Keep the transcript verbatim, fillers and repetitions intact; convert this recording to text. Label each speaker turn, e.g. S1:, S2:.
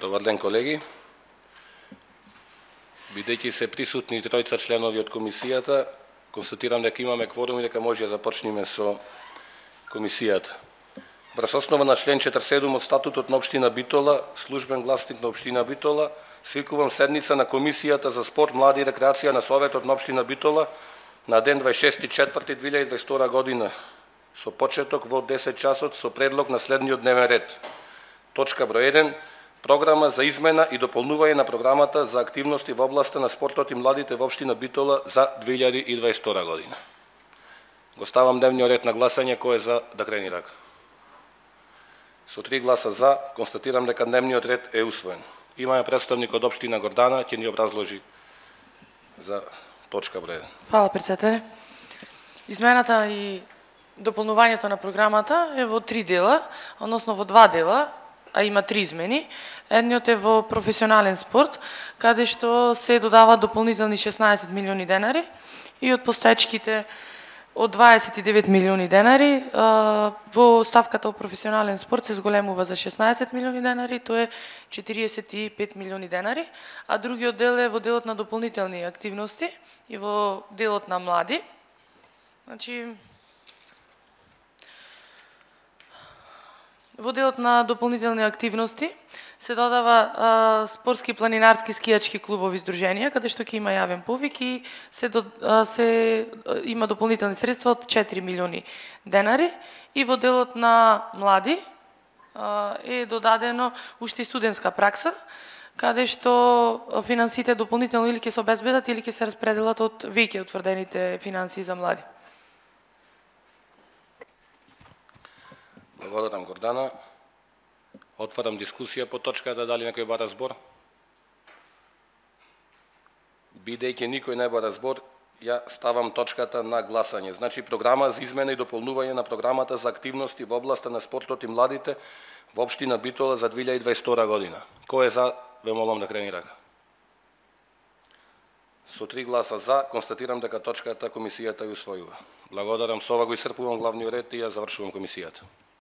S1: Добар ден, колеги. Бидејќи се присутни тројца членови од комисијата, констатирам дека имаме кворум и дека може да започнеме со комисијата. Врз основа на член четиридесет и седум од статутот на општина Битола, службен гласник на општина Битола, свикувам седница на комисијата за спорт, млади и рекреација на Советот на општина Битола на ден дваесет и шести четврти две илјади и дваесет и втора година со почеток во десет часот со предлог на следниот дневен ред. Точка број еден. Програма за измена и дополнување на програмата за активности во областа на спортот и младите во општина Битола за две илјади и дваесет и втора година. Го ставам дневниот ред на гласање, кој е за да крени рака. Со три гласа за, констатирам дека дневниот ред е усвоен. Имаме представник од општина Гордана, ќе ни образложи за точка број еден.
S2: Фала, председателе. Измената и дополнувањето на програмата е во три дела, односно во два дела, а има три измени. Едниот е во професионален спорт, каде што се додава дополнителни шеснаесет милиони денари и од постоечките од дваесет и девет милиони денари, во ставката во професионален спорт се зголемува за шеснаесет милиони денари, тоа е четириесет и пет милиони денари, а другиот дел е во делот на дополнителни активности и во делот на млади. Значи, во делот на дополнителни активности се додава а, спортски, планинарски, скијачки клубови издруженија, каде што ќе има јавен повик и се, до, а, се а, има дополнителни средства од четири милиони денари. И во делот на млади а, е додадено уште и студентска пракса, каде што финансите дополнително или ќе се обезбедат или ќе се распределат од веќе утврдените финансии за млади.
S1: Благодарам, Гордана. Отварам дискусија по точката, дали некој бара збор? Бидејќи никој не бара збор, ја ставам точката на гласање. Значи, програма за измена и дополнување на програмата за активности во областа на спортот и младите во општина Битола за две илјади и дваесет и втора година. Кој е за, ве молам да крени рака. Со три гласа за, констатирам дека точката комисијата ја усвојува. Благодарам, со ова го исцрпувам главниот ред и ја завршувам комисијата.